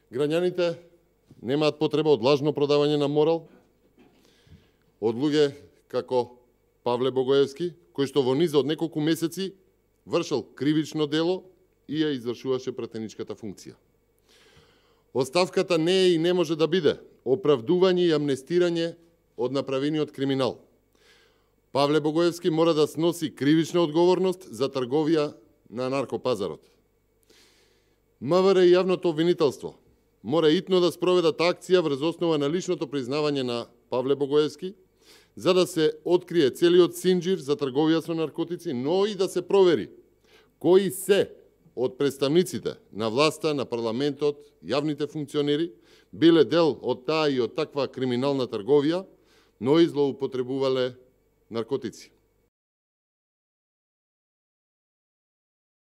Граѓаните немаат потреба од лажно продавање на морал, од луѓе како Павле Богоевски, кој што во низа од неколку месеци вршил кривично дело и ја извршуваше пратеничката функција. Оставката не е и не може да биде оправдување и амнестирање од направениот криминал. Павле Богоевски мора да сноси кривична одговорност за трговија на наркопазарот. МВР и јавното обвинителство мора итно да спроведат акција врз основа на личното признавање на Павле Богоевски, за да се открие целиот синџир за трговија со наркотици, но и да се провери кои се од представниците на власта, на парламентот, јавните функционери, биле дел од таа и од таква криминална трговија, но и злоупотребувале наркотици.